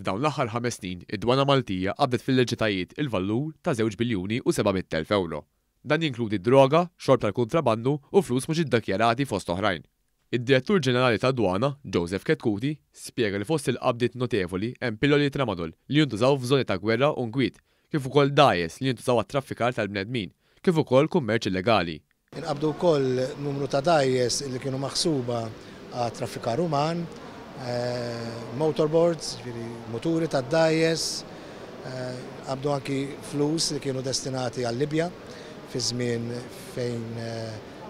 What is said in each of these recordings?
F'dawn l-aħħar 5 snin, id-Dwana Maltija qabdet f'illeġitajiet il-valur ta' żewġ biljuni u 700,000 ewro. Dan jinkludi droga, xorb tal-kuntrabandu u flus mhux iddikjarati fost oħrajn. Id-Direttur Ġenerali tad-Dwana, Joseph Chetcuti, spjega li fost il-qabdiet notevoli hemm pilloli tramadol li jintużaw f'żoni ta' gwerra u nkwiet, kif ukoll dgħajjes li jintużaw għat-traffikar tal-bnedmin, kif ukoll kummerċ illegali. Inqabdu wkoll numru ta' dgħajjes li kienu maħsuba għat-traffikar uman, motorboards, jiġifieri muturi tad-dgħajjes, nqabdu anki flus li kienu destinati għal-Libja fi żmien fejn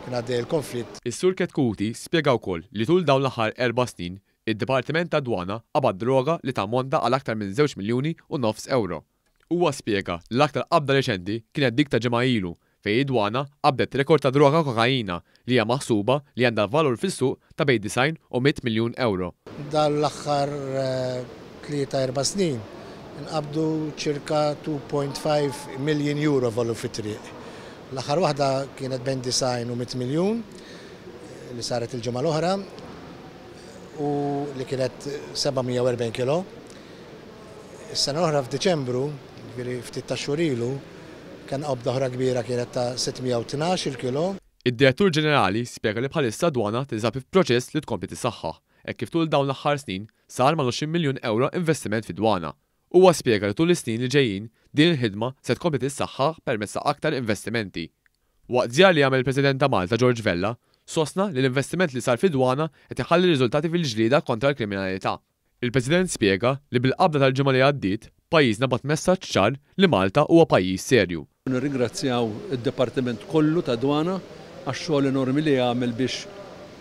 kien għaddej il-konflitt. Is-Sur Chetcuti spjega wkoll li tul dawn l-aħħar erba' snin, id-Dipartiment tad-Dwana qabad droga li tammonta għal aktar minn żewġ miljuni u nofs ewro. Huwa spjega li l-aktar qabda reċenti kienet dik ta' ġimgħa ilu fejn id-Dwana qabdet rekord ta' droga kokaina li hija maħsuba li għandha valur fis-suq ta' bejn 90 u 100 miljun ewro. Dawn l-aħħar tlieta erba' snin inqabdu ċirka 2.5 million euro valur fit-triq. L-aħħar waħda kienet bejn 90 u 100 miljun li saret il-ġimgħa l-oħra u li kienet 740 kilo. Is-sena l-oħra f'Diċembru, jiġifieri ftit tax-xhur ilu, kellna qabda oħra kbira kienet ta' 612-il kilo. Id-Direttur Ġenerali spjega li bħalissa d-Dwana tinsab f'proċess li tkompli tissaħħaħ, hekk kif tul dawn l-aħħar snin sar mal-20 miljun ewro investiment fid-Dwana. Huwa spjega li tul is-snin li ġejjin din il-ħidma se tkompli tissaħħaħ permezz ta' aktar investimenti. Waqt żjara li għamel il-President ta' Malta George Vella, sostna li l-investiment li sar fid-Dwana qed iħalli riżultati fil-ġlieda kontra l-kriminalità. Il-President spjega li bil-qabda tal-ġimgħa li għaddiet, pajjiżna bagħat messaġġ ċar li Malta huwa pajjiż serju. Nirringrazzjaw id-Dipartiment kollu tad-Dwana għax-xogħol enormi li għamel biex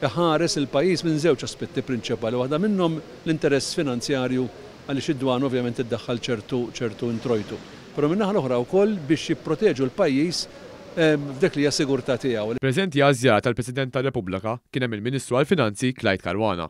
iħares il-pajjiż minn żewġ aspetti prinċipali, waħda minnhom l-interess finanzjarju għaliex id-dwana ovvjament iddaħħal ċertu ċertu introjtu. Però min-naħa l-oħra wkoll biex jipproteġu l-pajjiż f'dik li hija sigurtà tiegħu. Preżenti għaż-żjara tal-President tar-Repubblka kien hemm il-Ministru għall-Finanzi Clyde Caruana.